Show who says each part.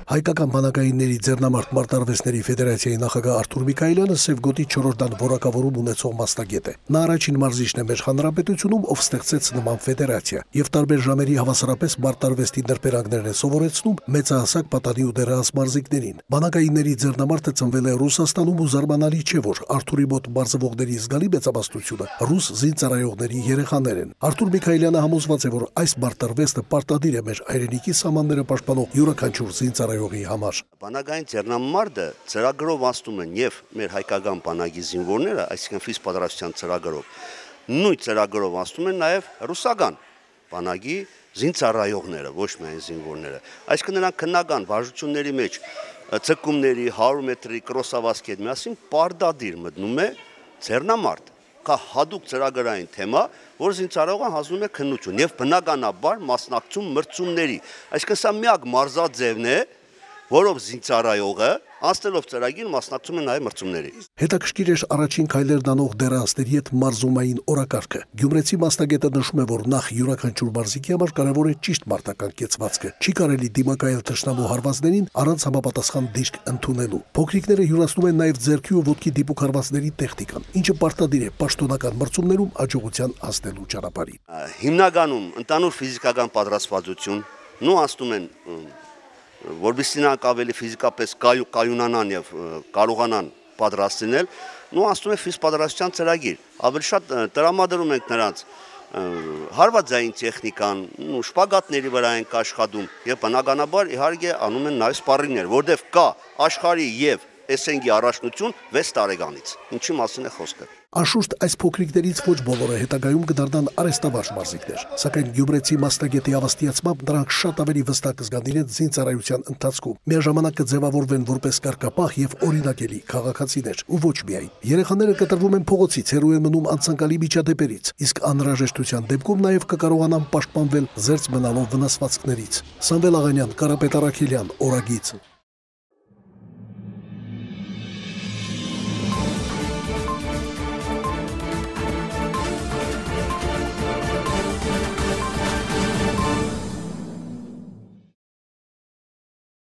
Speaker 1: Հայկական բանակայինների ձեռնամարտ մարտարվեստների ֆեդերացիայի նախագահ Արթուր Միքայելյանը Սևգոտի 4-րդ որակավորում ունեցող մասնագետ է։ Նա առաջին մարզիչն է մեր հանրապետությունում, ով ստեղծեց նման ֆեդերացիա եւ տարբեր ժամերի հավասարապես մարտարվեստի նրբերանգներն է սովորեցնում մեծահասակ պատանի ու դեռահաս մարզիկներին։ Բանակայինների ձեռնամարտը ծնվել է Ռուսաստանում ու զարմանալի չէ, որ Արթուրի մոտ մարզվողների զգալի մեծամասնությունը ռուս զինծառայողների երեխաներ են։ Արթուր Միքայելյանը համոզված է, որ այս մարտարվեստը պարտադիր է մեր հայրենիքի սահմանները պաշտպանող յուրաքանչյուր զինծառայողի համար։
Speaker 2: Բանակային ձեռնամարտը ծրագրով ասում են եւ մեր հայկական բանակի զինվորները, այսինքն ֆիզպատրաստության ծրագրով, նույն ծրագրով ասում են նաեւ ռուսական բանակի զինծառայողները, ոչ միայն զինվորները։ Այսինքն նրանք քննական վարժությունների մեջ ցկումների 100 մետրի կրոսավազքի հետ միասին պարտադիր մտնում է ձեռնամարտ։ Կա հadoop ծրագրային թեմա, որ զինծառայողը հանձնում է քննություն եւ բնականաբար մասնակցում մրցումների։ Այսինքն սա միակ մարզաձևն է, որով զինծառայողը անցնելով ծրագիր մասնակցում է նաև մրցումների։
Speaker 1: Հետաքրքիր էր առաջին քայլերն անող դեռահասների հետ մարզումային օրակարգը։ Գյումրեցի մասնագետը նշում է, որ նախ յուրաքանչյուր մարզիկի համար կարևոր է ճիշտ մարտական կեցվածքը։ Չի կարելի դիմակայել թշնամու հարվածներին առանց համապատասխան դիրք ընդունելու։ Փոքրիկները յուրացնում են նաև ձեռքի ու ոտքի դիպուկ հարվածների տեխնիկան, ինչը պարտադիր է պաշտոնական մրցումներում աջողության հասնելու ճանապարհին։
Speaker 2: Հիմնականում ընդհանուր ֆիզիկական պատրաստվածություն, նու ասում են որովհետեւ նրանք ավելի ֆիզիկապես կայունանան եւ կարողանան պատրաստել, նու ասում է ֆիզպատրաստության ծրագիր։ Ավելի շատ տրամադրում ենք նրանց հարվածային տեխնիկան, շպագատների վրա ենք աշխատում եւ բնականաբար իհարկե անում են նաեւ սպարինգներ, որտեղ կա աշխարհի եւ SNG առաջնություն 6 տարեկանից։ Ինչի մասին է խոսքը։
Speaker 1: Անշուշտ այս փոքրիկներից ոչ բոլորը հետագայում կդառնան արհեստավարժ մարզիկներ, սակայն գյումրեցի մասնագետի ավաստիացմամբ նրանք շատ ավելի վստահ կզգան իրենց զինծառայության ընթացքում։ Միաժամանակ կձևավորվեն որպես կարգապահ եւ օրինակելի քաղաքացիներ, ու ոչ միայն։ Երեխաները կտրվում են փողոցից, հեռու են մնում անցանկալի միջադեպերից, իսկ անհրաժեշտության դեպքում նաեւ կկարողանան պաշտպանվել զերծ մնալով վնասվածքներից։ Սամվել Աղանյան, Կարապետ Առաքելյան, Օրագիծ։